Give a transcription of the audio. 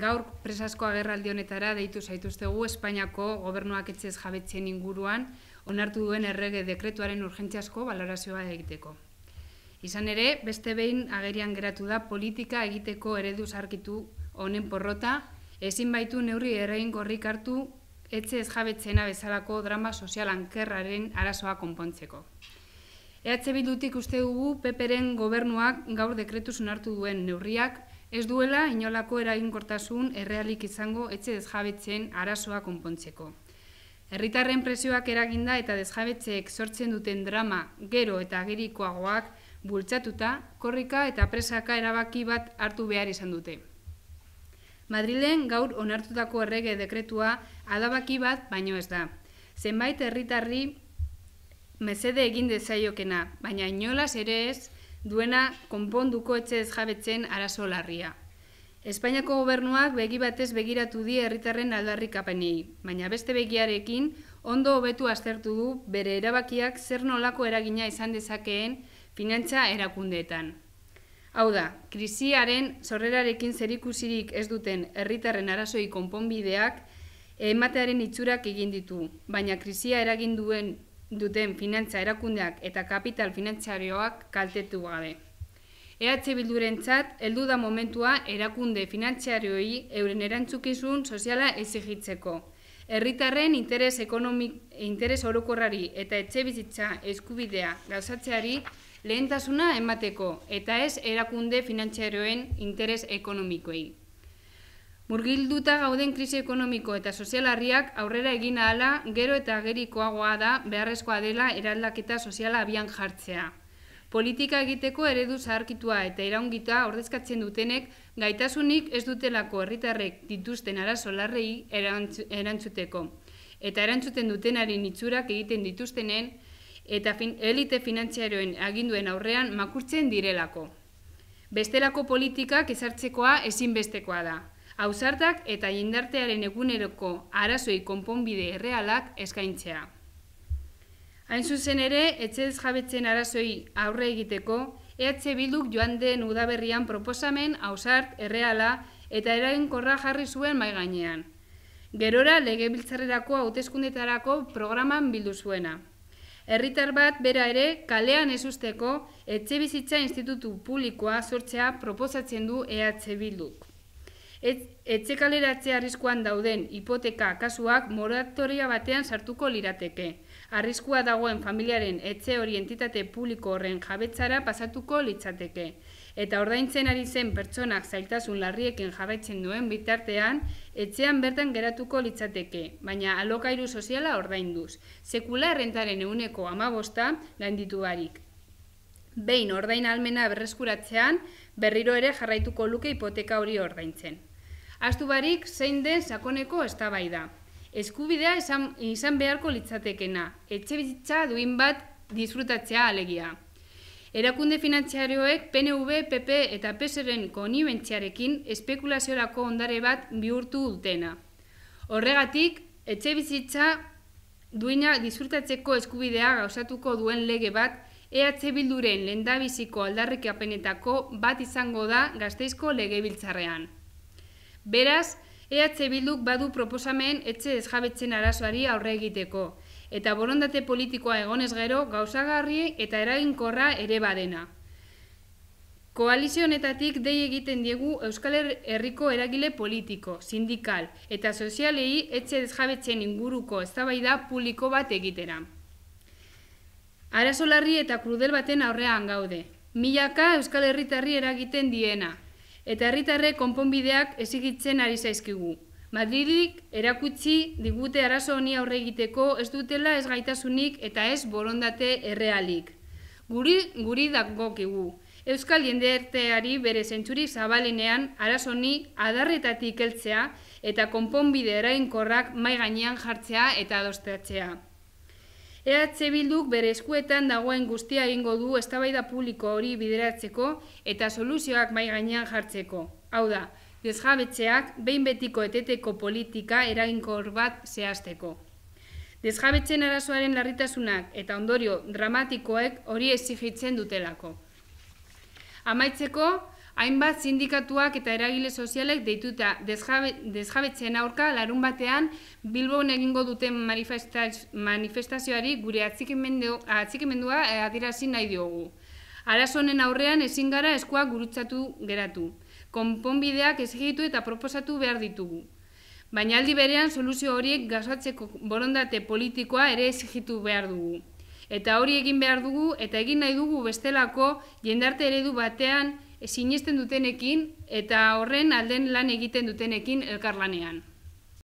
Gaur presazko agerraldi honetara deitu zaituztegu Espainiako gobernuak etxez jabetzen inguruan onartu duen errege dekretuaren urgentziazko balorazioa egiteko. Izan ere, beste behin agerian geratu da politika egiteko eredu zaharkitu honen porrota, ezin baitu neurri eraginkorrik hartu etxez jabetzena bezalako drama sozial ankerraren arazoa konpontzeko. EH Bildutik uste dugu PPren gobernuak gaur dekretuz onartu duen neurriak ez duela inolako eraginkortasun errealik izango etxe desjabetzen arazoa konpontzeko. Herritarren presioak eraginda eta desjabetzeek sortzen duten drama gero eta agerikoagoak bultzatuta, korrika eta presaka erabaki bat hartu behar izan dute. Madrilen gaur onartutako errege dekretua adabaki bat baino ez da. Zenbait herritarri mesede egin dezaiokena, baina inolaz ere ez duena konponduko etxe desjabetzen arazo larria. Espainiako gobernuak begi batez begiratu die herritarren aldarrikapenei, baina beste begiarekin ondo hobetu aztertu du bere erabakiak zer nolako eragina izan dezakeen finantza erakundeetan. Hau da, krisiaren sorrerarekin zerikusirik ez duten herritarren arazoi konponbideak ematearen itxurak egin ditu, baina krisia eragin duten finantza erakundeak eta kapital finantzarioak kaltetu gabe. EH Bildurentzat heldu da momentua erakunde finantzarioei euren erantzukizun soziala exigitzeko. Herritarren interes orokorrari eta etxebizitza eskubidea gauzatzeari lehentasuna emateko eta ez erakunde finantzarioen interes ekonomikoei. Murgilduta gauden krisi ekonomiko eta sozialarriak aurrera egin ahala gero eta agerikoagoa da beharrezkoa dela eraldaketa soziala abian jartzea. Politika egiteko eredu zaharkitua eta iraungita ordezkatzen dutenek gaitasunik ez dutelako herritarrek dituzten arazo larrei erantzuteko. Eta erantzuten dutenaren itxurak egiten dituztenen eta elite finantzarioen aginduen aurrean makurtzen direlako. Bestelako politikak ezartzekoa ezinbestekoa da. Ausartak eta jendartearen eguneroko arazoi konponbide errealak eskaintzea. Hain zuzen ere, etxe desjabetzen arazoi aurre egiteko, EH Bilduk joan den udaberrian proposamen, ausart, erreala eta eraginkorra jarri zuen mahai gainean. Gerora legebiltzarrerako hauteskundetarako programan bildu zuena. Herritar bat bera ere kalean ez uzteko etxebizitza institutu publikoa sortzea proposatzen du EH Bilduk. Etxe kaleratzea arriskuan dauden hipoteka kasuak moratoria batean sartuko lirateke. Arriskua dagoen familiaren etxe hori entitate publiko horren jabetzara pasatuko litzateke. Eta ordaintzen ari zen pertsonak zailtasun larriekin jarraitzen duen bitartean, etxean bertan geratuko litzateke, baina alokairu soziala ordainduz. Sekula errentaren 15% gainditu barik. Behin ordain ahalmena berreskuratzean, berriro ere jarraituko luke hipoteka hori ordaintzen. Ahaztu barik zein den sakoneko eztabaida. Eskubidea izan beharko litzatekena, etxebizitza duin bat disfrutatzea alegia. Erakunde finantzarioek PNV, PP eta PSren konibentziarekin espekulaziorako ondare bat bihurtu dutena. Horregatik, etxebizitza duina disfrutatzeko eskubidea gauzatuko duen lege bat EH Bilduren lehendabiziko aldarrikapenetako bat izango da Gasteizko legebiltzarrean. Beraz, EH Bilduk badu proposamen etxe desjabetzen arazoari aurre egiteko, eta borondate politikoa egonez gero gauzagarri eta eraginkorra ere badena. Koalizio honetatik dei egiten diegu Euskal Herriko eragile politiko, sindikal eta sozialei etxe desjabetzen inguruko eztabaida publiko bat egitera. Arazo larri eta krudel baten aurrean gaude. Milaka Euskal Herritarri eragiten diena, eta herritarrek konponbideak exigitzen ari zaizkigu. Madridik erakutsi digute arazo honi aurre egiteko ez dutela ez gaitasunik eta ez borondate errealik. Guri dagokigu. Euskal jendarteari bere zentzurik zabalenean arazo honi adarretatik heltzea eta konponbide eraginkorrak mahai gainean jartzea eta adostatzea. EH Bilduk bere eskuetan dagoen guztia egingo du eztabaida publiko hori bideratzeko eta soluzioak mahai gainean jartzeko. Hau da, desjabetzeak behin betiko eteteko politika eraginkor bat zehazteko. Desjabetzen arazoaren larritasunak eta ondorio dramatikoek hori exigitzen dutelako. Amaitzeko, hainbat sindikatuak eta eragile sozialek deituta desjabetzeen aurka larun batean Bilbon egingo duten manifestazioari gure atxikimendua adierazi nahi diogu. Arazo honen aurrean ezin gara eskuak gurutzatu geratu. Konponbideak exigitu eta proposatu behar ditugu. Baina aldi berean soluzio horiek gauzateko borondate politikoa ere exigitu behar dugu. Eta hori egin behar dugu eta egin nahi dugu bestelako jendarte eredu batean sinesten dutenekin eta horren alden lan egiten dutenekin elkarlanean.